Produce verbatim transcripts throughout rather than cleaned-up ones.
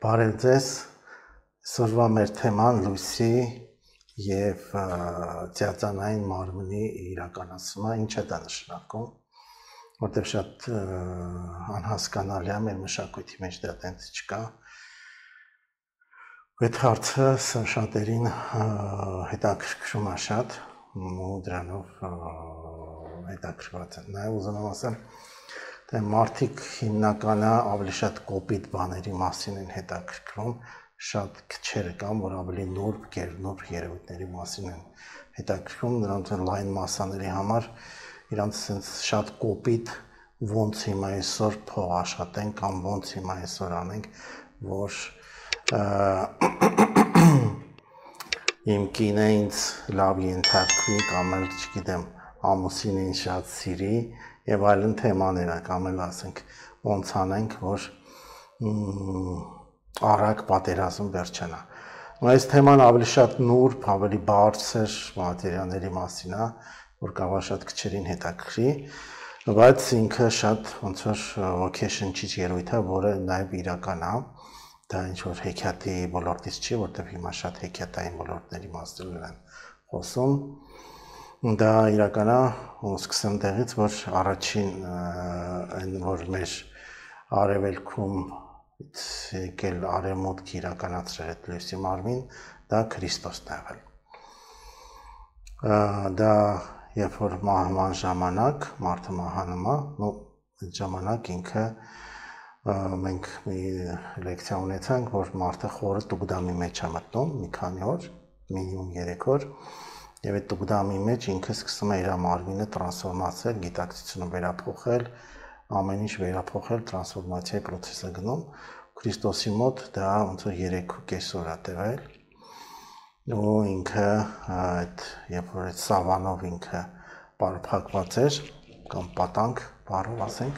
Բարև ձեզ, այսօրվա մեր թեման լույսի և ծիածանային մարմնի իրականացումը ինչ է դա նշանակում, որտեղ շատ անհասկանալի է մեր մշակույթի մեջ դա տենց չկա։ Այդ հարցը շատերին հետաքրքրում է շատ ու դրանով հետաքրքրված են։ Նաև ուզում եմ ասեմ, թե մարդիկ հիմնականը ավելի շատ կոպիտ բաների մասին են հետաքրքրում, շատ քչերը կան, որ ավելի նուրբ, գերնուրբ երևույթների մասին են հետաքրքրում, նրանց լայն մասաների համար իրանց sense շատ կոպիտ ոնց հիմա այսօր փող աշխատենք կամ ոնց հիմա այսօր անենք, որ իմ կինը ինձ լավ ենթարկվի կամ էլ չգիտեմ ամուսինը ինձ շատ սիրի եւ այլն թեմաներ ա կամ էլ ասենք ոնց անենք, որ արագ պատերազմ վերջանա։ Այս թեման ավելի շատ նուրբ, ավելի բարձր մատերիալների մասին է, որ կարող է շատ քչերին հետաքրքրի, բայց ինքը շատ ոնց որ ոգեշնչիչ երևույթ է, որը նաև իրական է։ Դա ինչ որ հեքիաթի ոլորտից չի, որտեղ հիմա շատ հեքիաթային ոլորտների մասին են խոսում։ Դա իրական է, ու սկսեմ տեղից, որ առաջին այն որ մեր արևելքում եկել արևմուտք իրականացրել այդ լույսի մարմին, դա Քրիստոսն է եղել։ Դա երբ որ մահվան ժամանակ մարդը մահանում է, ու այդ ժամանակ ինքը մենք մի լեկցիա ունեցանք, որ մարդը խորը տուգդամի մեջ է մտնում մի քանի օր, մինիմում երեք օր, եւ այդ տուգդամի մեջ ինքը սկսում է իր մարմինը տրանսֆորմացնել, գիտակցությունը վերափոխել, ամեն ինչ վերափոխել, տրանսֆորմացիայի process է գնում։ Քրիստոսի մոտ դա ոնց որ երեք ու կես օր է տևել, ու ինքը այդ երբ որ այդ սավանով ինքը պարփակված էր կամ պատանք բառով ասենք,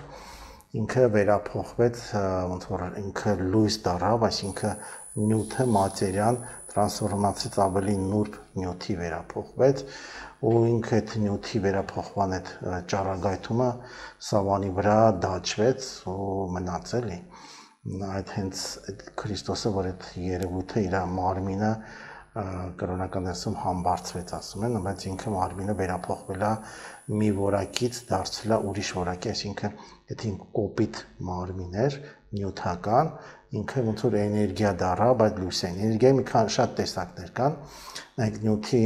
ինքը վերափոխվեց, ոնց որ ինքը լույս դառավ, այսինքն նյութը մատերիան տրանսֆորմացից ավելի նուրբ նյութի վերափոխվեց, ու ինքը այդ նյութի վերափոխման այդ ճառագայթումը սավանի վրա դաջվեց ու մնաց էլի։ Այդ հենց Քրիստոսը, որ այդ երևույթը իր մարմինը կրոնական դասում համբարձվեց ասում են, բայց ինքը մարմինը վերափոխվել է մի որակից դարձել է ուրիշ որակի, այսինքն եթե ինքը կոպիտ մարմին էր, նյութական, ինքը ոնց որ էներգիա դառավ, այդ լույսի էներգիայի մի քանի շատ տեսակներ կան, այդ նյութի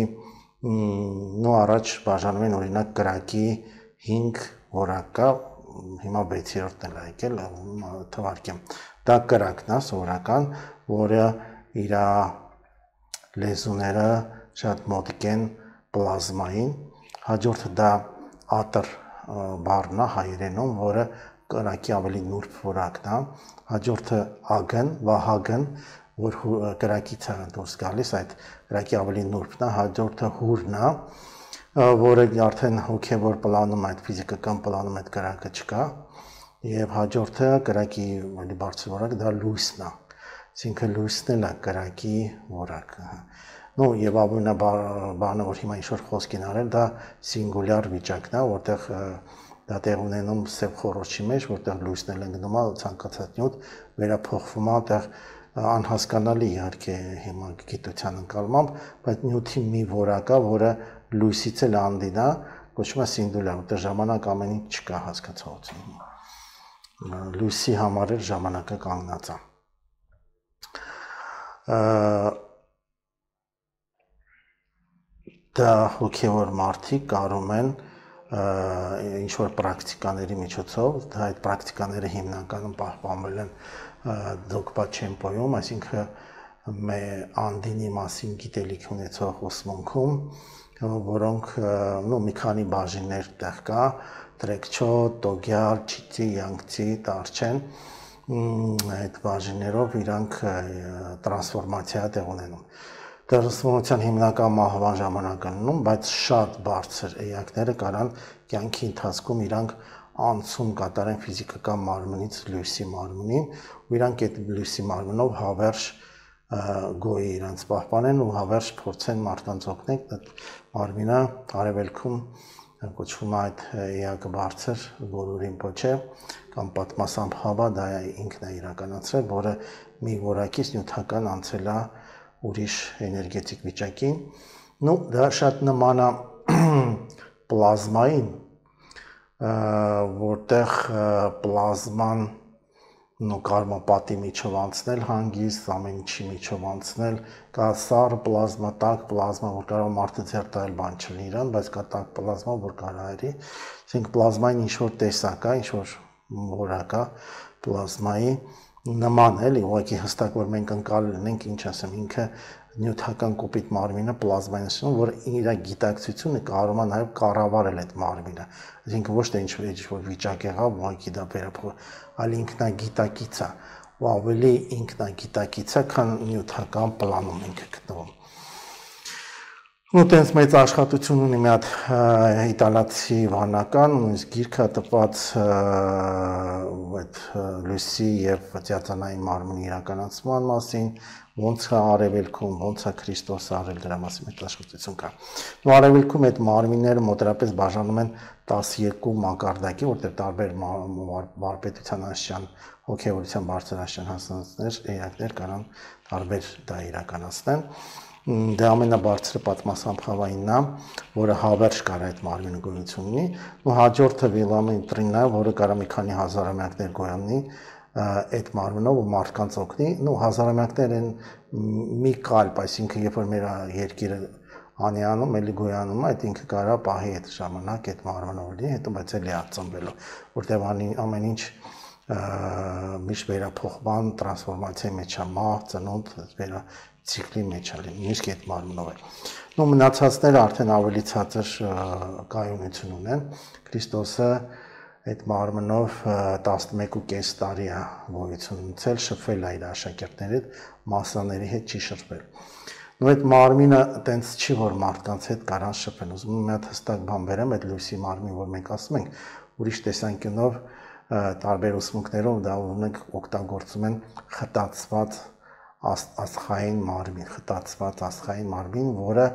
նո առաջ բաժանում են օրինակ կրակի հինգ որակ կա, հիմա վեցերորդն է եկել, թվարկեմ, դա կրակն է սովորական, որը իր լեզուները շատ մոտիկ են պլազմային, հաջորդը դա ատր բառն է հայերենում, որը կրակի ավելի նուրբ որակն է, հաջորդը ագն, վահագն, որ կրակից է դուրս գալիս, այդ կրակի ավելի նուրբն է, հաջորդը հուրն է, որը արդեն հոգևոր պլանում, այդ ֆիզիկական պլանում այդ կրակը չկա, եւ հաջորդը կրակի ավելի բարձր որակ, դա լույսն է, այսինքն լույսն էլ է կրակի որակը։ Ну եւ ամենաբանը, որ հիմա ինչ-որ խոսք են արել, դա սինգուլյար վիճակն է, որտեղ դա տեղ ունենում սև խոռոչի մեջ, որտեղ լույսն էլ ընկնում է, ցանկացած նյութ վերափոխվում է, այդտեղ անհասկանալի իհարկե հիմա գիտության ընկալմամբ, բայց նյութի մի որակ է, որը լույսից էլ անդին է, կոչվում է սինգուլյար, որտեղ ժամանակ ամեն ինչ չկա հասկացողություն։ Լույսի համար էլ ժամանակը կանգնած է։ Դա հոգևոր մարդիկ կարում են ինչ-որ պրակտիկաների միջոցով, դա այդ պրակտիկաները հիմնականում պահպանվել են դոգմա չեմպոյում, այսինքն անդինի մասին գիտելիք ունեցող ուսմունքում, որոնք մի քանի բաժիններ տեղ կա, տրեկչոտ, տոգյալ, չիցի, յանգցի, տարչեն, այդ բաժիններով իրանք տրանսֆորմացիա տեղ ունենում։ Տրանսֆորմացիան հիմնական մահվան ժամանակ ըննում, բայց շատ բարձր էակները կարան կյանքի ընթացքում իրանք անցում կատարեն ֆիզիկական մարմնից լույսի մարմնին, ու իրանք այդ լույսի մարմնով հավերժ գոյի իրանց պահպանեն ու հավերժ փորձեն մարդկանց օգնել այդ մարմինը արևելքում կոչվում է այդ էակը բարձր, որը Ռիմպոչե կամ պատմասամբ Հավա դա ինքն է իրականացրել, որը մի որակից նյութական անցել է ուրիշ էներգետիկ վիճակին։ Ну, դա շատ նման է պլազմային, որտեղ պլազման նո կարմապատի միջով անցնել հանգիստ, ամեն ինչի միջով անցնել, կա սառը պլազմա, տաք պլազմա, որ կարող մարդը ձեռ տալ բան չլինի իրան, բայց կա տաք պլազմա, որ կարող է, ասենք պլազմային ինչ-որ տեսակ է, ինչ-որ որակ է պլազմայի նման էլի, ուղղակի հստակ որ մենք ընկալել ենք, ինչ ասեմ, ինքը նյութական կոպիտ մարմինը պլազմային ասում, որ իր գիտակցությունը կարող է նաև կառավարել այդ մարմինը, այսինքն ոչ թե ինչ-որ ինչ-որ վիճակ եղավ, ուղղակի դա վերափոխ, այլ ինքնագիտակից է, ու ավելի ինքնագիտակից է, քան նյութական պլանում ինքը գտնվում։ Ու տենց մեծ աշխատություն ունի մի հատ իտալացի վանական, նույնիսկ գիրքը տպած այդ լույսի եւ ծիածանային մարմնի իրականացման մասին, ոնց է արևելքում, ոնց է Քրիստոսը արել, դրա մասին մեծ աշխատություն կա։ Ու արևելքում այդ մարմինները մոտավորապես բաժանում են տասներկու մակարդակի, որտեղ տարբեր վարպետության աստիճան, հոգեվորության բարձրաստիճան հասցնածներ, էակներ կարող տարբեր դա իրականացնեն։ Դա ամենաբարձրը պատմասամբ Հավայինն է, որը հավերժ կար այդ մարմինը գոյություն ունի, ու հաջորդը Վիլամենտրինն է, որը կարող մի քանի հազարամյակներ գոյանի այդ մարմնով ու մարդկանց օգնի, ու հազարամյակներ են մի կալպ, այսինքն երբ որ մեր երկիրը անյանում, էլի գոյանում, այդ ինքը կարա պահի այդ ժամանակ այդ մարմնով լինի, հետո բայց էլի ածնվելու, որտեղ ամեն ինչ միշտ վերափոխման, տրանսֆորմացիայի մեջ է, մահ, ծնունդ, վերա ցիկլի մեջ է լինում, նույնիսկ այդ մարմնով է։ Ու մնացածները արդեն ավելի ցածր կայունություն ունեն։ Քրիստոսը այդ մարմնով տասնմեկ ու կես տարի է գոյություն ունեցել, շփվել է իր աշակերտների հետ, մասաների հետ չի շփվել։ Ու այդ մարմինը տենց չի, որ մարդկանց հետ կարան շփվեն։ Ուզում եմ մի հատ հստակ բան բերեմ, այդ լույսի մարմին, որ մենք ասում ենք, ուրիշ տեսանկյունով տարբեր ուսմունքներով դա ունենք օգտագործում են խտացված աստղային մարմին, խտացված աստղային մարմին, որը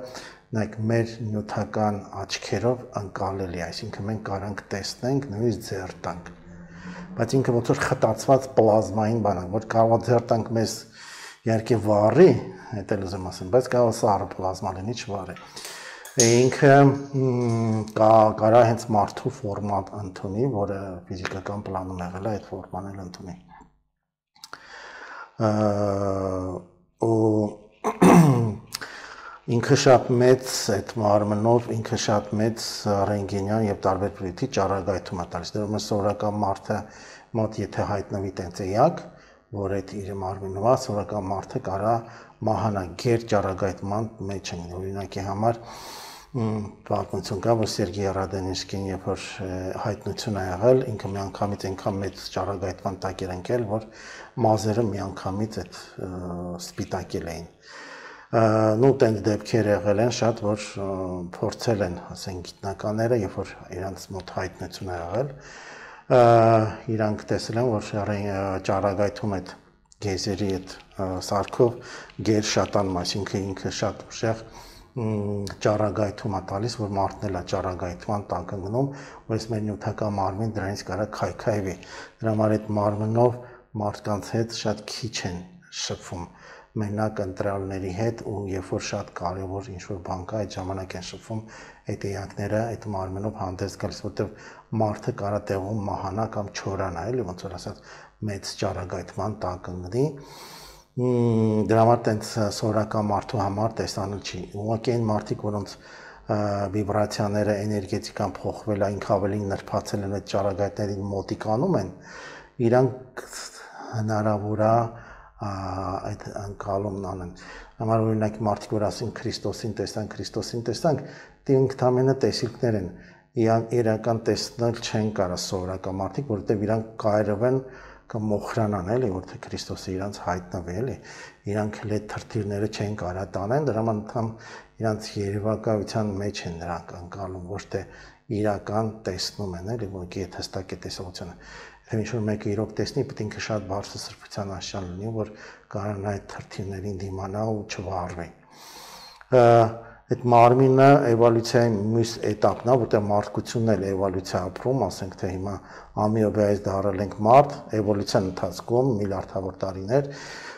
նայեք մեր նյութական աչքերով ընկալելի է, այսինքն մենք կարանք տեսնենք, նույնիսկ ձեռ տանք, բայց ինքը ոնց որ խտացված պլազմային բան է, որ կարող է ձեռ տանք մեզ իհարկե վառի, դա էլ ուզում ասեմ, բայց կարող է սառը պլազմա լինի, չվառի։ Ինքը կարա հենց մարդու ֆորմատ ընդունի, որը ֆիզիկական պլանում եղել է, այդ ֆորման էլ ընդունի։ Ու ինքը շատ մեծ այդ մարմնով, ինքը շատ մեծ ռենտգենյան եւ տարբեր պրիթի ճառագայթում է տալիս։ Դեռ սովորական մարդը մոտ եթե հայտնվի տենց էակ, որ այդ իր մարմինով է, սովորական մարդը կարա մահանա գեր ճառագայթման մեջ են, օրինակի համար պատմություն կա, որ Սերգեյ Ռադենիսկին երբ որ հայտնություն է եղել, ինքը միանգամից այնքան մեծ ճառագայթման տակ էր ընկել, որ մազերը միանգամից այդ սպիտակել էին։ Նու տենց դեպքեր եղել են շատ, որ փորձել են, ասենք գիտնականները, երբ որ իրանց մոտ հայտնություն է եղել, իրանք տեսել են, որ ճառագայթում այդ գեյզերի այդ սարքով գեր շատանում, այսինքն ինքը շատ ուժեղ ճառագայթում է տալիս, որ մարդն էլ է ճառագայթման տակ ընկնում, ու այս մեր նյութական մարմին դրանից կարա քայքայվի։ Դրա համար այդ մարմնով մարդկանց հետ շատ քիչ են շփվում, մենակ ընտրյալների հետ, ու երբ որ շատ կարևոր ինչ-որ բան կա, այդ ժամանակ են շփվում այդ էակները այդ մարմնով հանդես գալիս, որտեղ մարդը կարա տեղում մահանա կամ չորանա, էլի ոնց որ ասած մեծ ճառագայթման տակ ընկնի։ Դրա համար տենց սովորական մարդու համար տեսանել չի։ Ուղղակի այն մարդիկ, որոնց վիբրացիաները, էներգետիկան փոխվել է, ինքը ավելի նրբացել են այդ ճառագայթներին մոտիկանում են, իրանք հնարավոր է այդ ընկալումն անեն։ Համար օրինակ մարդիկ, որ ասին Քրիստոսին տեսանք, Քրիստոսին տեսանք, դե ինքնամենը տեսիլքներ են, իրական տեսնել չեն կարա սովորական մարդիկ, որովհետև իրանք կայրվեն կամ մոխրանան էլի, որտեղ Քրիստոսը իրանց հայտնվի էլի, իրանք էլ այդ թրթիրները չեն կարա տանեն, դրա համար անգամ իրանց երևակայության մեջ են նրանք ընկալում, ոչ թե իրական տեսնում են էլի, որ այդ հստակ է տեսողությունը։ Եթե ինչ-որ մեկը իրոք տեսնի, պետք է ինքը շատ բարձր սրբության աշճան լինի, որ կարան այդ թրթիրներին դիմանա ու չվառվի։ այդ մարմինը էվոլյուցիայի մյուս էտապն է, որտեղ մարդկությունն էլ էվոլյուցիա ապրում, ասենք թե հիմա ամիոբայից դառել ենք մարդ, էվոլյուցիան ընթացքում միլիարդավոր տարիներ,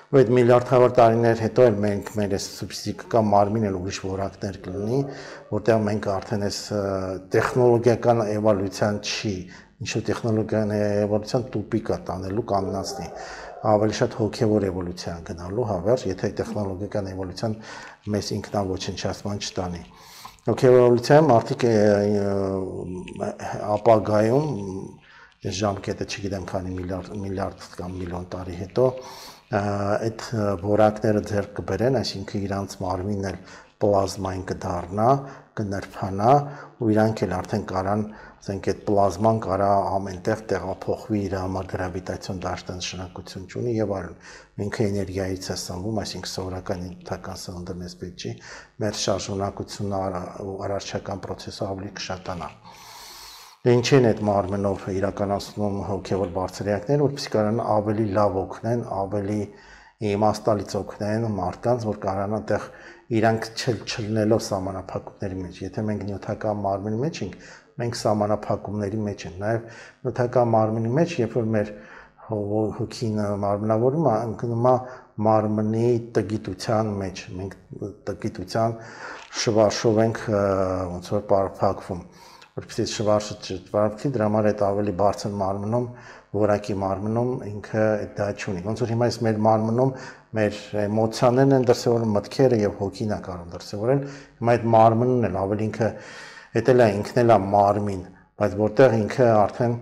ու այդ միլիարդավոր տարիներ հետո էլ մենք մեր այս ֆիզիկական մարմինն էլ ուրիշ որակներ կլինի, որտեղ մենք արդեն այս տեխնոլոգիական էվոլյուցիան չի, ինչ-որ տեխնոլոգիական էվոլյուցիան տուպիկա տանելու կանգնացնի, ավելի շատ հոգևոր էվոլյուցիա գնալու հավերժ, եթե տեխնոլոգիական էվոլյուցիան մեզ ինքնաոչնչացման չտանի։ Հոգևոր էվոլյուցիայում մարդիկ ապագայում այս ժամկետը չգիտեմ քանի միլիարդ միլիարդ կամ միլիոն տարի հետո այդ որակները ձեռք կբերեն, այսինքն իրանց մարմինն էլ պլազմային կդառնա, կնրբանա ու իրանք էլ արդեն կարան, ասենք այդ պլազման կարա ամենտեղ տեղափոխվի իր համար գրավիտացիոն դաշտանշանակություն ունի եւ այլն։ Ինքը էներգիայից է սնվում, այսինքն սովորական նյութական սնունդը մեզ պետք չի, մեր շարժունակությունը ու առարչական process-ը ավելի կշատանա։ Ինչ են այդ մարմնով իրականացնում հոգևոր բարձրակները, որպեսզի կարան ավելի լավ օգնեն, ավելի իմաստալից օգնեն մարդկանց, որ կարանան այդտեղ իրանք չլնելով սահմանափակումների մեջ։ Եթե մենք նյութական մարմնի մեջ ենք, մենք սահմանափակումների մեջ ենք։ Նաև նյութական մարմնի մեջ, երբ որ մեր հոգին մարմնավորում է, ընկնում է մարմնի տգիտության մեջ։ Մենք տգիտության շվարշով ենք ոնց որ պարփակվում։ Որպեսզի շվարշը չպարփի, դրա համար այդ ավելի բարձր մարմնում, որակի մարմնում ինքը դա չունի։ Ոնց որ հիմա այս մեր մարմնում մեր էմոցիաներն են դրսևորում, մտքերը եւ հոգին է կարող դրսևորել։ Հիմա այդ մարմինն էլ ավելի ինքը դա էլ է ինքն էլ է մարմին, բայց որտեղ ինքը արդեն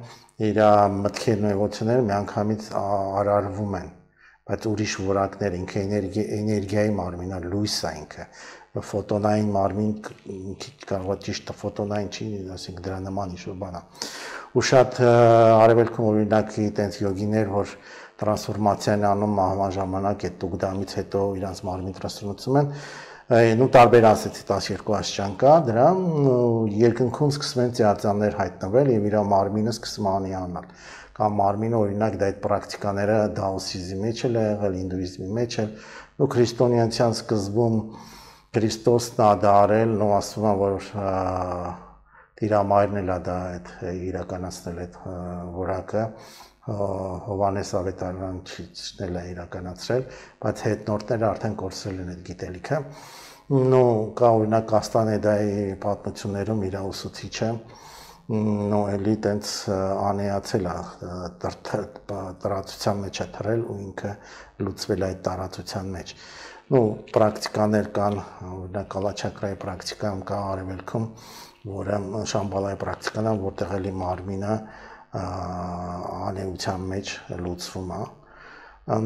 իր մտքերն ու էմոցիաները միանգամից արարվում են, բայց ուրիշ որակներ, ինքը էներգիայի մարմին է, լույս է ինքը, ֆոտոնային մարմին կարող է ճիշտ ֆոտոնային չի, ասենք դրա նման ինչ-որ բան է։ Ու շատ արևելքում օրինակ այտենց յոգիներ, որ տրանսֆորմացիան անում մահվան ժամանակ այդ տուգդամից հետո իրանց մարմին տրանսֆորմացում են, նու տարբեր ասեցի տասներկու աստիճան կա, դրա երկնքում սկսում են ծիածաններ հայտնվել եւ իր մարմինը սկսում անի անալ։ Կամ մարմինը օրինակ դա այդ պրակտիկաները դաոսիզմի մեջ էլ է եղել, հինդուիզմի մեջ էլ, ու քրիստոնեության սկզբում Քրիստոսն է դա արել, նո ասում են, որ Տիրամայրն էլ է դա այդ իրականացնել այդ որակը, Հովանես Ավետարանչիչն էլ է իրականացրել, բայց հետնորդները արդեն կորցրել են այդ գիտելիքը։ Նո կա օրինակ Կաստանեդայի պատմություններում իր ուսուցիչը նո էլի տենց անեացել է տարածության մեջ է թռել ու ինքը լուծվել է այդ տարածության մեջ։ Նո պրակտիկաներ կան, օրինակ կալաչակրայի պրակտիկան կա արևելքում, որը շամբալայի պրակտիկան է, որտեղ էլի մարմինը անեության մեջ լուծվում է։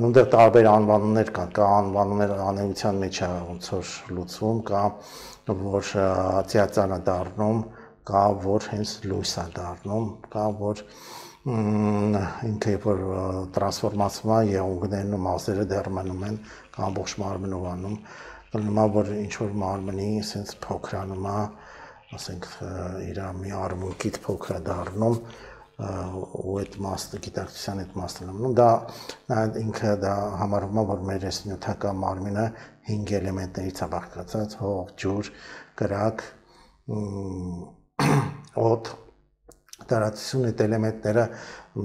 Նույնտեղ տարբեր անվանումներ կան, կա անվանումներ անեության մեջ է ոնց որ լուծվում, կա որ ծիածան է դառնում, կա որ հենց լույս է դառնում, կա որ ինքը որ տրանսֆորմացվում է եղունգներն ու մասերը դեռ մնում են, կա ամբողջ մարմնով անում, կլինի որ ինչ որ մարմնի sense փոքրանում է, ասենք իր մի արմունկից փոքր է դառնում ու այդ մասը գիտակցության այդ մասն է մնում, դա ինքը դա համարվում է որ մեր այս նյութական մարմինը հինգ էլեմենտներից է բաղկացած, հող, ջուր, կրակ, օդ, տարածություն այդ էլեմենտները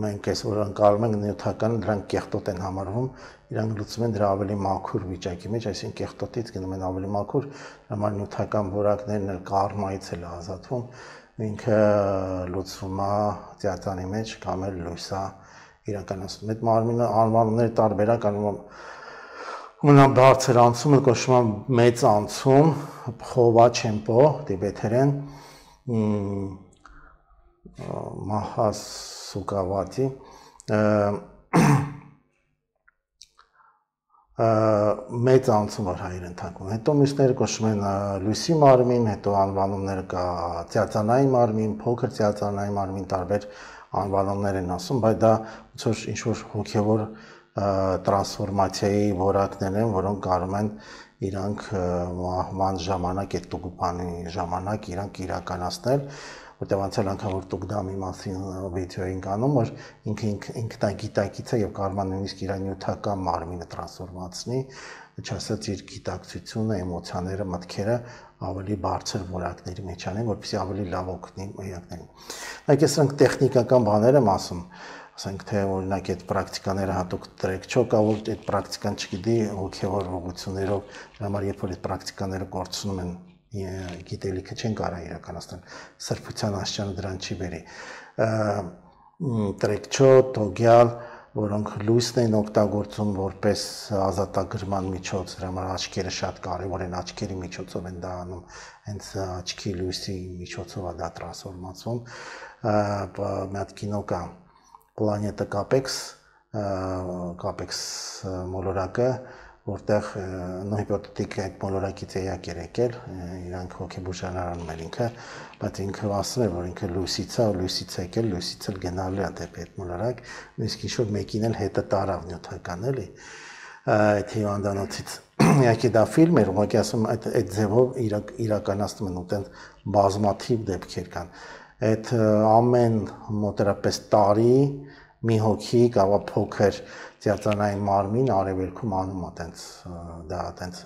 մենք այսօր ընկալում ենք նյութական, դրանք կեղտոտ են համարվում, իրանք լուծում են դրա ավելի մաքուր վիճակի մեջ, այսինքն կեղտոտից գնում են ավելի մաքուր, համար նյութական որակներն էլ կարմայից էլ ազատվում, ինքը լուծվում է ծիածանի մեջ կամ էլ լույս է իրականացնում։ Այդ մարմինը անվանումների տարբերակ անում ամենաբարձր անցումը կոչվում է մեծ անցում, փխովա չեմպո տիբեթերեն, Մահասուկավատի մեծ անցում որ հայերեն թարգում։ Հետո մյուսները կոչվում են լույսի մարմին, հետո անվանումները կա ծիածանային մարմին, փոքր ծիածանային մարմին, տարբեր անվանումներ են ասում, բայց դա ոնց որ ինչ որ հոգևոր տրանսֆորմացիայի որակներ են, որոնք կարող են իրանք մահվան ժամանակ այդ տուգուպանի ժամանակ իրանք իրականացնել, որտեղ անցյալ անգամ որ Տուգդամի մասին վիդեո էինք անում, որ ինքը ինքնագիտակից է եւ կարող է նույնիսկ իր նյութական մարմինը տրանսֆորմացնի, չասած իր գիտակցությունը, էմոցիաները, մտքերը ավելի բարձր որակների մեջ անեն, որպեսզի ավելի լավ օգնի էակներին։ Այդ սրանք տեխնիկական բաներ եմ ասում, ասենք թե օրինակ այդ պրակտիկաները հատուկ տրեք չո կա որ այդ պրակտիկան չգիտի հոգևոր ուղղություններով դրա համար երբ որ այդ պրակտիկաները կորցնում են գիտելիքը չեն կարող իրականացնել սրբության աշճանը դրան չի բերի տրեք չո տոգյալ որոնք լույսն են օգտագործում որպես ազատագրման միջոց դրա համար աչքերը շատ կարևոր են աչքերի միջոցով են դա անում հենց աչքի լույսի միջոցով է դա տրանսֆորմացվում մի հատ կինո կա Planeta Capex, Capex մոլորակը, որտեղ նոհիպոթետիկ այդ մոլորակից էակ էր եկել, իրանք հոգեբուժարանում էր ինքը, բայց ինքը ասում էր, որ ինքը լույսից է, լույսից է եկել, լույսից էլ գնալու է դեպի այդ մոլորակ, նույնիսկ ինչ-որ մեկին էլ հետը տարավ նյութական էլի, այդ հիվանդանոցից։ Իհարկե դա ֆիլմ էր, ուղղակի ասում այդ այդ ձևով իրականացնում են ու տենց բազմաթիվ դեպքեր կան։ Այդ ամեն մոտերապես տարի մի հոգի կարող փոքր ծիածանային մարմին արևելքում անում է տենց դա տենց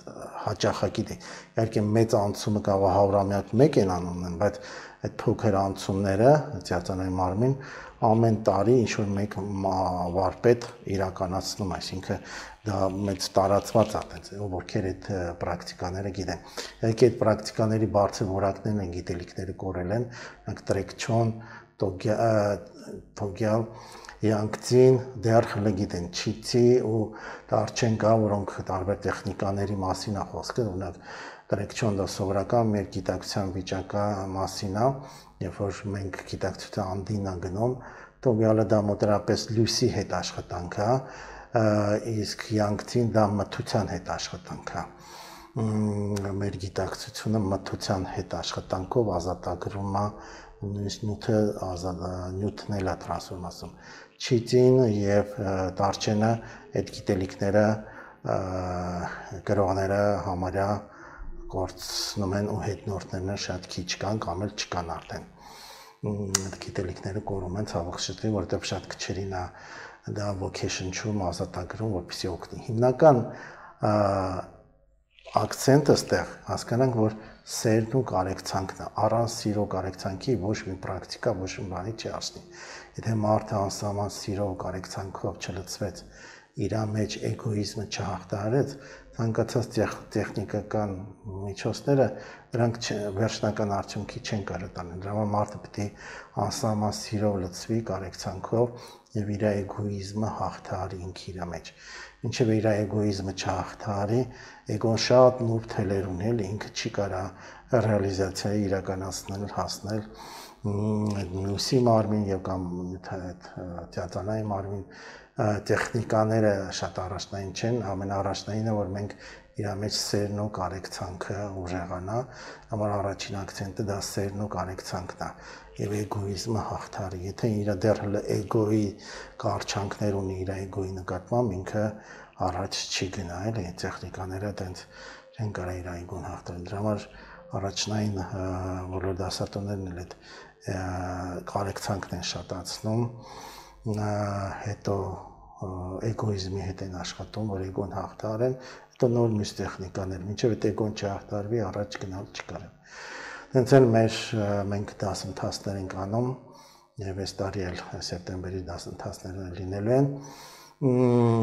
հաճախակի դե իհարկե մեծ անցումը կարող հարյուրամյակ մեկ են անում բայց այդ փոքր անցումները ծիածանային մարմին ամեն տարի ինչ որ մեկ վարպետ իրականացնում այսինքն դա մեծ տարածված է տենց ովքեր այդ պրակտիկաները գիտեն իհարկե այդ պրակտիկաների բարձր որակներն են գիտելիքները կորել են նրանք տրեկչոն տոգյալ Yanktին դեռ հլգիտեն չիցի ու դարչեն կա, որոնք տարբեր տեխնիկաների մասին է խոսքը, օրինակ տրեկչոն դա սովորական մեր գիտակցության վիճակա մասին է, երբ որ մենք գիտակցության անդին է գնում, տոգյալը դա մոտերապես լույսի հետ աշխատանք է, իսկ Yanktին դա մթության հետ աշխատանք է։ Մեր գիտակցությունը մթության հետ աշխատանքով ազատագրում է նույնիսկ նյութը ազատ նյութն էլ է տրանսֆորմացում Չիծին եւ դարչենը այդ գիտելիքները գրողները համարյա կորցնում են ու հետնորդներն շատ քիչ կան կամ էլ չկան արդեն այդ գիտելիքները կորում են ցավոք շտի որովհետեւ շատ քչերին է դա vocation-ում ազատագրում որպեսզի օգնի հիմնական акцենտը ստեղ հասկանանք որ սերն ու կարեկցանքն է առանց սիրո կարեկցանքի ոչ մի պրակտիկա ոչ մի բանի չի ասնի եթե մարդը անսահման սիրո ու կարեկցանքով չլցվեց իր մեջ էգոիզմը չհաղթահարեց ցանկացած տեխնիկական միջոցները դրանք վերջնական արդյունքի չեն կարող տանել դրա համար մարդը պետք է անսահման սիրով լցվի կարեկցանքով եւ իր էգոիզմը հաղթահարի ինքը իր մեջ Ինչև իր էգոիզմը չհաղթահարի, էգոն շատ նուրբ թելեր ունի, էլի ինքը չի կարող ռեալիզացիայի իրականացնել, հասնել լույսի մարմին եւ կամ թիատրոնային մարմին տեխնիկաները շատ առաջնային չեն, ամենաառաջնայինը որ մենք իր մեջ սերն ու կարեկցանքը ուժեղանա, համար առաջին акցենտը դա սերն ու կարեկցանքն է եւ էգոիզմը հաղթարի, եթե իր դեռ էգոյի կարճանքներ ունի իր էգոյի նկատմամբ ինքը առաջ չի գնա, էլի տեխնիկաները տենց չեն կարող իր էգոն հաղթել, դրա համար առաջնային բոլոր դասատուներն էլ այդ կարեկցանքն են շատացնում, հետո էգոիզմի հետ են աշխատում, որ էգոն հաղթարեն, հետո նոր մյուս տեխնիկաներ, մինչև այդ էգոն չհաղթարվի, առաջ գնալ չկարեն։ Հենց էլ մեր մենք դասընթացներ ենք անում, եւ այս տարի էլ սեպտեմբերի դասընթացները լինելու են։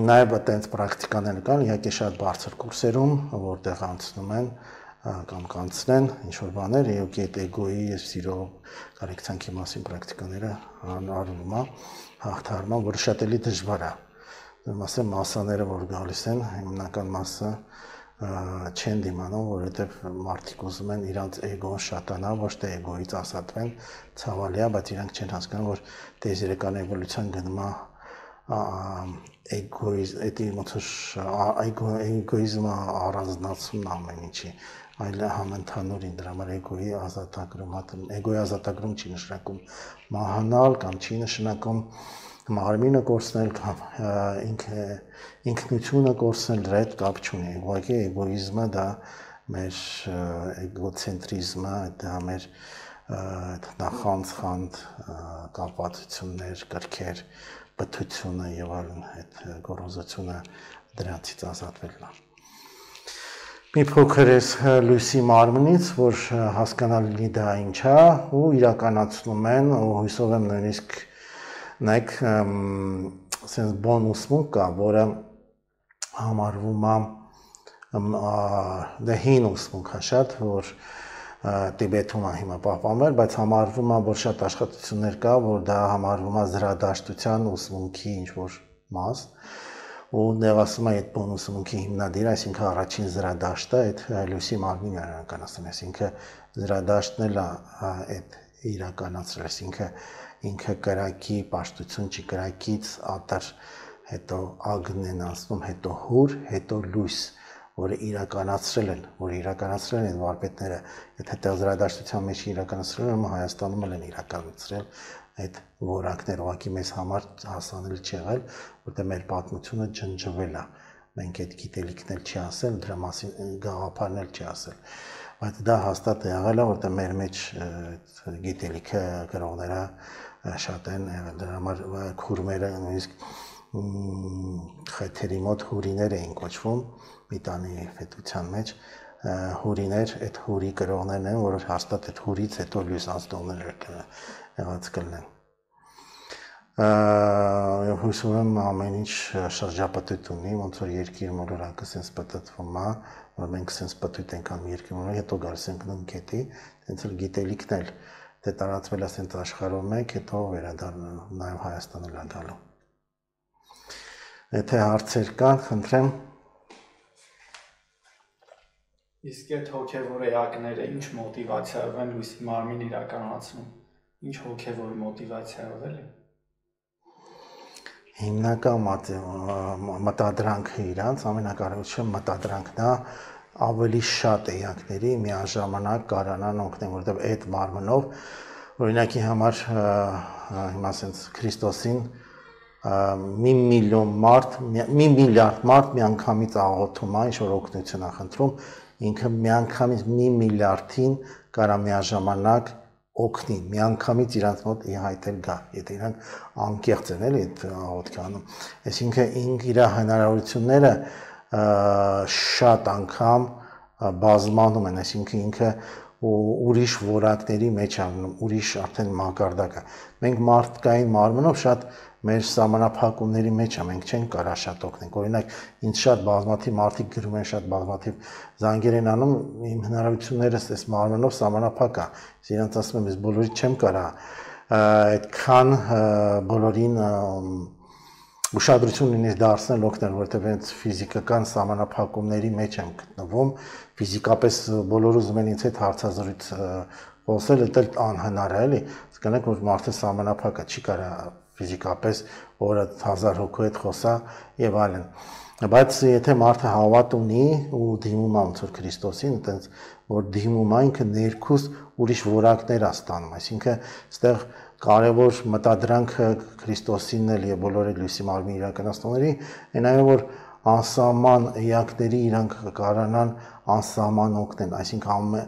Նաեւ այդպես պրակտիկաներ կան, իհարկե շատ բարձր կուրսերում, որտեղ անցնում են կամ կանցնեն ինչ որ բաներ, իհարկե այդ էգոյի եւ սիրո կարեկցանքի մասին պրակտիկաները արվում է, հաղթահարում է, որը շատ էլի դժվար է։ Մասը մասաները որ գալիս են, հիմնական մասը չեն դիմանում, որովհետև մարդիկ ուզում են իրանց էգոն շատանա, ոչ թե էգոից ազատվեն, ցավալի է, բայց իրանք չեն հասկանում, որ տեզերական էվոլյուցիան գնում է էգոիզմը առանձնացումն ամեն ինչի, այլ համընդհանուրին դրա համար էգոյի ազատագրում, էգոյի ազատագրում չի նշանակում մահանալ կամ չի նշանակում մարմինը կորցնել կամ ինքնությունը կորցնել դրա հետ կապ չունի, ուղղակի էգոիզմը դա մեր էգոցենտրիզմը, դա մեր նախանց խանդ կապվածություններ, կրքեր, բթությունը եւ այլն այդ գոռոզությունը դրանցից ազատվելն է։ Մի փոքր էս լույսի մարմնից, որ հասկանալի դա ինչ է, ու իրականացնում են, ու հույսով եմ նույնիսկ նայեք sense bonus մունք կա, որը համարվում է դե հին ուսմունք է շատ, որ Տիբեթում է հիմա պահպանվել, բայց համարվում է, որ շատ աշխատություններ կա, որ դա համարվում է զրադաշտության ուսմունքի ինչ-որ մաս, ու դեռ ասում է այդ բոն ուսմունքի հիմնադիրը, այսինքն առաջին զրադաշտը այդ լույսի մարմինն է իրականացնում, այսինքն զրադաշտն էլ է այդ իրականացրել, այսինքն ինքը կրակի պաշտություն չի, կրակից ատար, հետո ագն են անցնում, հետո հուր, հետո լույս, որը իրականացրել են, որ իրականացրել են վարպետները, եթե տեղզրադաշտության մեջ իրականացրել են, Հայաստանում են իրականացրել այդ որակներ, ուղղակի մեզ համար հասանելի չի եղել, որտեղ մեր պատմությունը ջնջվել է, մենք այդ գիտելիքն էլ չի ասել, դրա մասին գաղափարն էլ չի ասել, բայց դա հաստատ եղել է, որտեղ մեր մեջ գիտելիքը գրողները շատ են, դրա համար քուրմերը նույնիսկ խեթերի մոտ հուրիներ էին կոչվում, մի տանի պետության մեջ հուրիներ, այդ հուրի կրողներն են, որ հաստատ այդ հուրից հետո լույս անցնողներ եղած կլինեն։ Հույսում եմ ամեն ինչ շրջապտույտ ունի, ոնց որ երկիր մոլորակը սենց պտտվում է, որ մենք սենց պտույտ ենք անում երկիր մոլորակ, հետո գալիս ենք նույն կետի, հենց էլ գիտելիքն էլ դե տարածվել է սենց աշխարհում մեկ, հետո վերադառնալ նաև Հայաստան էլ գալու։ Եթե հարցեր կան, խնդրեմ։ Իսկ այդ հոգևոր էակները ինչ մոտիվացիայով են լույսի մարմին իրականացնում, ինչ հոգևոր մոտիվացիայով էլի։ Հիմնական մտադրանքը իրանց, ամենակարևորը մտադրանքն է ավելի շատ էակների միաժամանակ կարանան օգնեն, որովհետև այդ մարմնով, օրինակի համար հիմա ասենց Քրիստոսին մի միլիոն մարդ, մի միլիարդ մարդ միանգամից աղոթում է, ինչ-որ օգնություն է խնդրում, ինքը միանգամից մի միլիարդին կարա միաժամանակ օգնի, միանգամից իրանց մոտ իհայտել գա, եթե իրանք անկեղծ են էլի այդ աղոթքը անում, այսինքն իր հնարավորությունները շատ անգամ բազմանում են, այսինքն ինքը ուրիշ որակների մեջ անում, ուրիշ արդեն մակարդակը։ Մենք մարդկային մարմնով շատ մեր սահմանափակումների մեջ է, մենք չենք կարա շատ օգնենք, օրինակ ինձ շատ բազմաթիվ մարդիկ գրում են, շատ բազմաթիվ զանգեր են անում, իմ հնարավորություններս այս մարմնով սահմանափակ է, իրենց ասում եմ, ես բոլորի չեմ կարա այդքան բոլորին ուշադրություն ունի դարձնել օգնել, որովհետև հենց ֆիզիկական սահմանափակումների մեջ եմ գտնվում, ֆիզիկապես բոլորը ուզում են ինձ հետ հարցազրույց խոսել, դա անհնար է, էլի, հասկանաք, որ մարդը սահմանափակ է, չի կարա ֆիզիկապես օրը հազար հոգու հետ խոսա եւ այլն։ Բայց եթե մարդը հավատ ունի ու դիմում է ոնց որ Քրիստոսին, այտենց որ դիմում է ինքը ներքուս ուրիշ որակներ է ստանում, այսինքն այստեղ կարևոր մտադրանքը Քրիստոսինն էլ եւ բոլոր այդ լույսի մարմնի իրականացնողների այն այո որ անսահման էակների իրանք կարանան անսահման օգնեն, այսինքն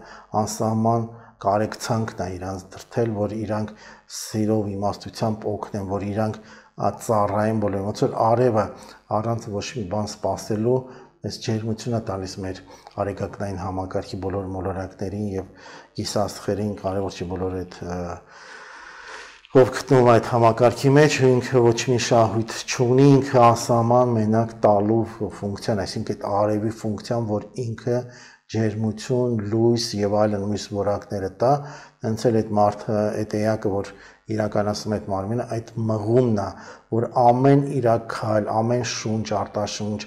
անսահման կարեկցանքն է իրանց դրթել, որ իրանք սիրով իմաստությամբ օգնեն, որ իրանք ծառայեն բոլորին, ոնց որ արևը առանց ոչ մի բան սпасելու, այս ջերմությունը տալիս մեր արեգակնային համակարգի բոլոր մոլորակներին եւ գիսաստղերին, կարևոր չի բոլոր այդ ով գտնվում այդ համակարգի մեջ, ինքը ոչ մի շահույթ չունի, ինքը անսահման մենակ տալու ֆունկցիան, այսինքն այդ արևի ֆունկցիան, որ ինքը ջերմություն, լույս եւ այլն մյուս որակները տա, հենց էլ այդ մարդը, այդ էակը, որ իրականացնում այդ մարմինը, այդ մղումն է, որ ամեն իր քայլ, ամեն շունչ, արտաշունչ,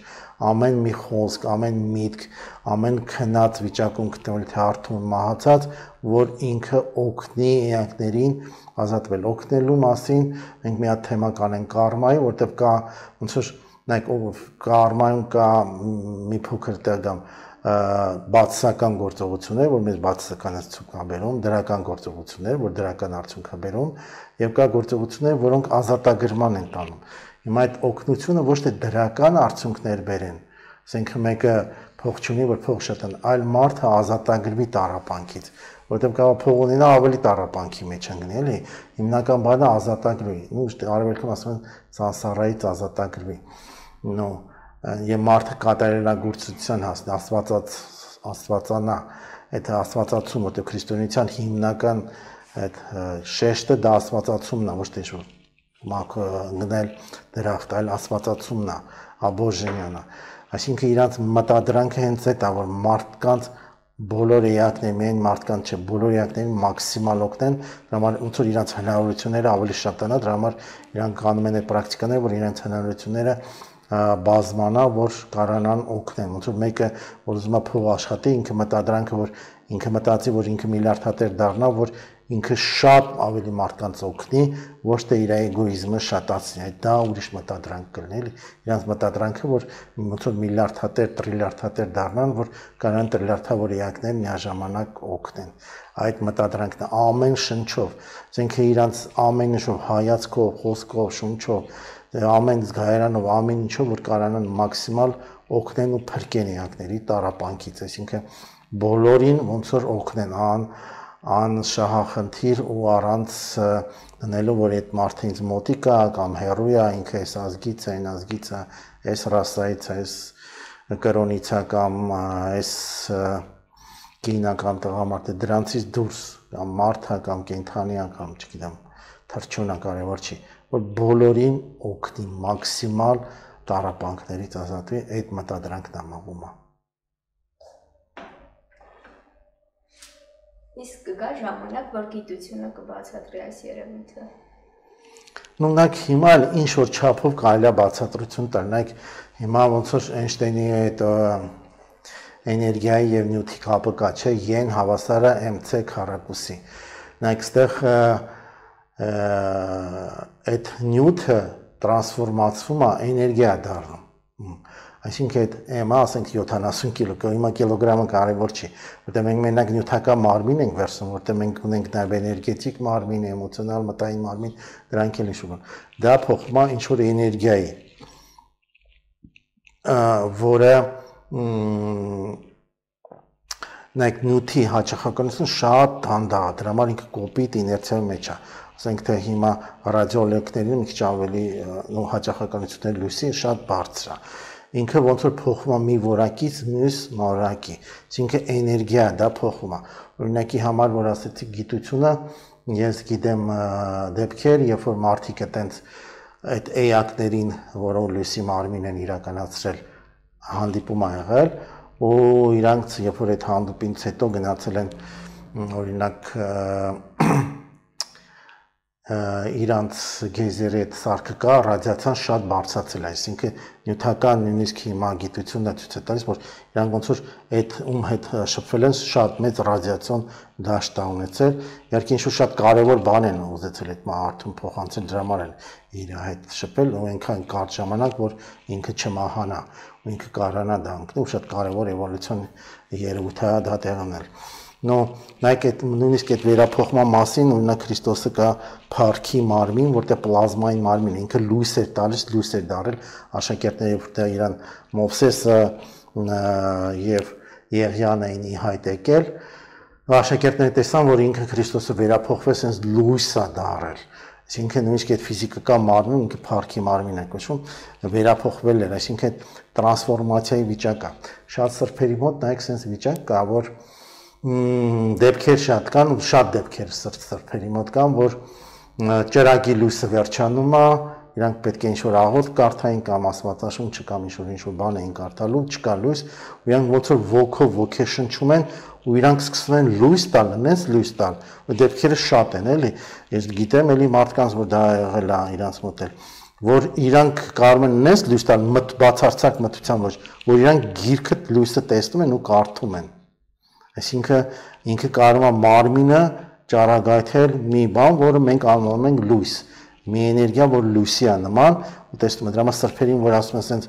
ամեն մի խոսք, ամեն միտք, ամեն քնած վիճակում գտնվել թե արթուն մահացած, որ ինքը օգնի էակներին ազատվել, օգնելու մասին մենք մի հատ թեմա կանենք կարմայի, որտեղ կա ոնց որ նայեք կարմայում կա մի փոքր տեղ գամ բացասական գործողություններ, որ մեզ բացասական արդյունք է բերում, դրական գործողություններ, որ դրական արդյունք է բերում, եւ կա գործողություններ, որոնք ազատագրման են տանում։ Հիմա այդ օգնությունը ոչ թե դրական արդյունքներ բերեն, ասենք մեկը փող չունի, որ փող շատ են, այլ մարդը ազատագրվի տառապանքից, որտեղ կարող փող ունենա ավելի տառապանքի մեջ ընկնի, էլի։ Հիմնական բանը ազատագրվի։ Ու արևելքում ասում են ծանսարայից ազատագրվի։ Նո, եւ մարդը կատարելագործության հասնի, աստվածած աստվածանա, այդ աստվածացումը, որտեղ քրիստոնեության հիմնական այդ շեշտը դա աստվածացումն է, ոչ թե շո մակ գնել դրախտ, այլ աստվածացումն է, աբոժենյանն է։ Այսինքն իրանց մտադրանքը հենց այդ է, որ մարդկանց բոլոր էակներին, միայն մարդկանց չէ, բոլոր էակներին մաքսիմալ օգնեն, դրա համար ոնց որ իրանց հնարավորությունները ավելի շատանա, դրա համար իրանք անում են այդ պրակտիկաները, որ իրանց հնարավորությունները բազմանա, որ կարանան օգնեն, ոնց որ մեկը որ ուզում է փող աշխատի, ինքը մտադրանքը, որ ինքը մտածի, որ ինքը միլիարդատեր դառնա, որ ինքը շատ ավելի մարդկանց օգնի, ոչ թե իր էգոիզմը շատացնի, այդ դա ուրիշ մտադրանք կլինի, էլի, իրանց մտադրանքը, որ ոնց որ միլիարդատեր, տրիլիարդատեր դառնան, որ կարան տրիլիարդավոր էակներ միաժամանակ օգնեն։ Այդ մտադրանքն է ամեն շնչով, ասենք իրանց ամեն ինչով, հայացքով, խոսքով, շունչով, ամեն զգայարանով, ամեն ինչով, որ կարանան մաքսիմալ օգնեն ու փրկեն էակների տառապանքից, այսինքն բոլորին ոնց որ օգնեն, ան անշահախնդիր ու առանց դնելու, որ այդ մարդը ինձ մոտիկ է կամ հեռու է, ինքը այս ազգից է, այն ազգից է, այս ռասայից է, այս կրոնից է կամ այս կինա կամ տղամարդը, դրանցից դուրս կամ մարդը կամ կենդանի է կամ չգիտեմ, թռչունը կարևոր չի, որ բոլորին օգնի մաքսիմալ տառապանքներից ազատվի, այդ մտադրանքն է մաղումը։ Իսկ կգա ժամանակ, որ գիտությունը կբացատրի այս երևույթը։ Նույնակ հիմա ինչ որ չափով կարելի է բացատրություն տալ, նայեք հիմա ոնց որ Էյնշտեյնի այդ էներգիայի եւ նյութի կապը կա, չէ, են հավասարը mc քառակուսի։ Նայեք այստեղ այդ նյութը տրանսֆորմացվում է, էներգիա դառնում։ Այսինքն այդ m-ը, ասենք յոթանասուն կիլո, հիմա կիլոգրամը կարևոր չի, որտեղ մենք մենակ նյութական մարմին ենք վերցնում, որտեղ մենք ունենք նաև էներգետիկ մարմին, էմոցիոնալ, մտային մարմին, դրանք էլ ինչ-որ բան։ Դա փոխվում է ինչ-որ էներգիայի, որը նայեք նյութի հաճախականությունը շատ դանդաղ է, դրա համար ինքը կոպիտ իներցիայի մեջ է։ Ասենք թե հիմա ռադիոլեկներին մի քիչ ավելի նո հաճախականությունների լույսի շատ բարձր է։ Ինքը ոնց որ փոխվում է մի որակից մյուս որակի, այսինքն էներգիա դա փոխվում է։ Օրինակի համար որ ասեցի գիտությունը, ես գիտեմ դեպքեր, երբ որ մարդիկ այտենց այդ էակներին, որոնք լույսի մարմին են իրականացրել, հանդիպում ա եղել, ու իրանք երբ որ այդ հանդիպումից հետո գնացել են օրինակ իրանց գեյզերի այդ սարքը կա, ռադիացիան շատ բարձրացել է, այսինքն նյութական նույնիսկ հիմա գիտությունն է ցույց է տալիս, որ իրանք ոնց որ այդ ում հետ շփվել են շատ մեծ ռադիացիոն դաշտ է ունեցել, իհարկե ինչ-որ շատ կարևոր բան են ուզեցել այդ մարդուն փոխանցել, դրա համար են իր հետ շփվել ու այնքան կարճ ժամանակ, որ ինքը չմահանա, ու ինքը կարողանա դա ընկնել, ու շատ կարևոր էվոլյուցիոն երևույթ է դա տեղ ունենալ։ Նո, նայեք այդ նույնիսկ այդ վերափոխման մասին, օրինակ Քրիստոսը կա փառքի մարմին, որտեղ պլազմային մարմին, ինքը լույս էր տալիս, լույս էր դարել, աշակերտները որտեղ իրան Մովսեսը եւ Եղիան էին ի հայտ եկել, աշակերտները տեսան, որ ինքը Քրիստոսը վերափոխվեց, sense լույս է դարել։ Այսինքն նույնիսկ այդ ֆիզիկական մարմինը ինքը փառքի մարմին է կոչվում, վերափոխվել էր, այսինքն տրանսֆորմացիայի վիճակ է։ Շատ սրբերի մոտ նայեք sense վիճակ կա, որ դեպքեր շատ կան, շատ դեպքեր սրբերի մոտ կան, որ ճրագի լույսը վերջանում է, իրանք պետք է ինչ-որ աղոթք կարդային կամ աստվածաշունչը կամ ինչ-որ ինչ-որ բան էին կարդալու, չկա լույս, ու իրանք ոնց որ ոգով ոգեշնչում են, ու իրանք սկսում են լույս տալ, նենց լույս տալ, ու դեպքերը շատ են, էլի, ես գիտեմ էլի մարդկանց, որ դա եղել է իրանց մոտ էլ, որ իրանք կարող են նենց լույս տալ, բացարձակ մթության ոչ, որ իրանք գիրքը լույսը տեսնում են ու կարդում են։ Այսինքն ինքը կարող է մարմինը ճառագայթել մի բան, որը մենք անվանում ենք լույս, մի էներգիա, որ լույսի է նման, ու տեսնում եք, դրա համար սրբերին, որ ասում են sense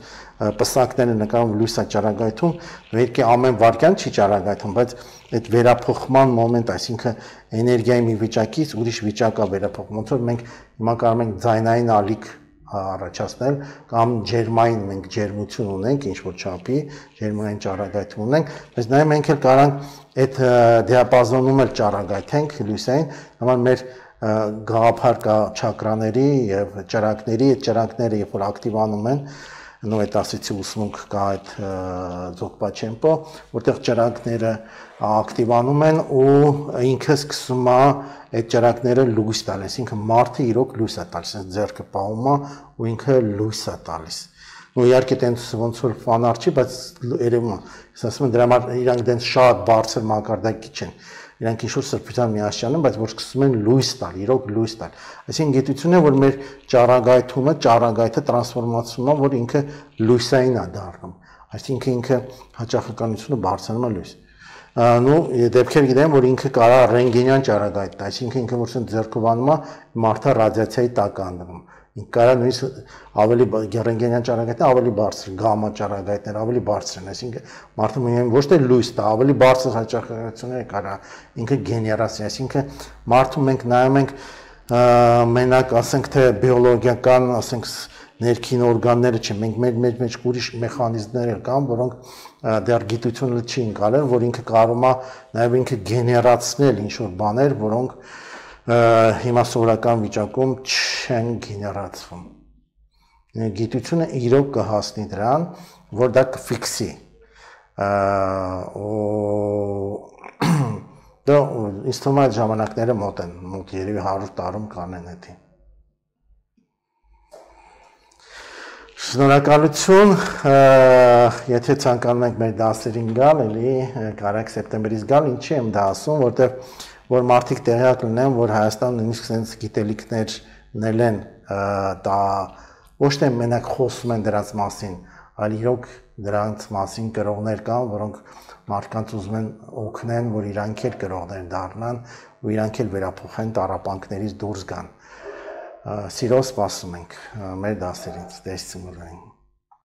պսակները նկարում լույս է ճառագայթում, պետք է ամեն վայրկյան չի ճառագայթում, բայց այդ վերափոխման մոմենտ, այսինքն էներգիայի մի վիճակից ուրիշ վիճակ է վերափոխվում, ոնց որ մենք հիմա կարող ենք ձայնային ալիք առաջացնել կամ ջերմային մենք ջերմություն ունենք ինչ որ չափի ջերմային ճառագայթ ունենք բայց նաև մենք էլ կարանք այդ դիապազոնում էլ ճառագայթենք լույսային համար մեր գաղափար կա չակրաների եւ ճրակների այդ ճրակները երբ որ ակտիվանում են նո այդ ասեցի ուսմունք կա այդ ձոկպաչեմպո որտեղ ճրակները ակտիվանում են ու ինքը սկսում է այդ ճրակները լույս տալ, այսինքն մարդը իրոք լույս է տալիս, ձեռքը պահում է ու ինքը լույս է տալիս։ Ու իհարկե տենց ոնց որ ֆանար չի, բայց երևում է, ես ասում եմ դրա համար իրանք տենց շատ բարձր մակարդակի չեն։ Իրանք ինչ-որ սրբության միասյան են, բայց որ սկսում են լույս տալ, իրոք լույս տալ։ Այսինքն գիտությունը, որ մեր ճառագայթումը, ճառագայթը տրանսֆորմացվում է, որ ինքը լույսային է դառնում։ Այսինքն ինքը հաճախականությունը բարձրանում է լույս։ Նու դեպքեր գիտեմ, որ ինքը կարա ռենտգենյան ճառագայթ, այսինքն ինքը որ ձեռքովանում է, մարդը ռադիացիայի տակ է անդնում։ Ինքը կարա նույնիսկ ավելի ռենտգենյան ճառագայթը ավելի բարձր, գամմա ճառագայթները ավելի բարձր են, այսինքն մարդը միայն ոչ թե լույս տա, ավելի բարձր հաճախականություններ կարա ինքը գեներացիա, այսինքն մարդու մենք նայում ենք մենակ ասենք թե բիոլոգիական, ասենք ներքին օրգանները չէ, մենք մեր մեջ մեջ ուրիշ մեխանիզմներ կան, որոնք դեռ գիտությունը չի ընկալել, որ ինքը կարող է նաև ինքը գեներացնել ինչ-որ բաներ, որոնք հիմա սովորական վիճակում չեն գեներացվում։ Գիտությունը իրոք կհասնի դրան, որ դա կֆիքսի։ Դա ինձ թվում է այդ ժամանակները մոտ են, մոտ երևի հարյուր տարում կանեն էդի։ Շնորհակալություն, եթե ցանկանում եք մեր դասերին գալ, էլի կարաք սեպտեմբերից գալ, ինչի եմ դա ասում, որտեղ որ մարդիկ տեղյակ լինեն, որ Հայաստանը նույնիսկ sense գիտելիքներն են, դա ոչ թե մենակ խոսում են դրանց մասին, այլ իրոք դրանց մասին գրողներ կան, որոնք մարդկանց ուզում են օգնեն, որ իրանք էլ գրողներ դառնան ու իրանք էլ վերափոխեն տառապանքներից դուրս գան։ Սիրով սպասում ենք մեր դասերից, տեսցում ունենք։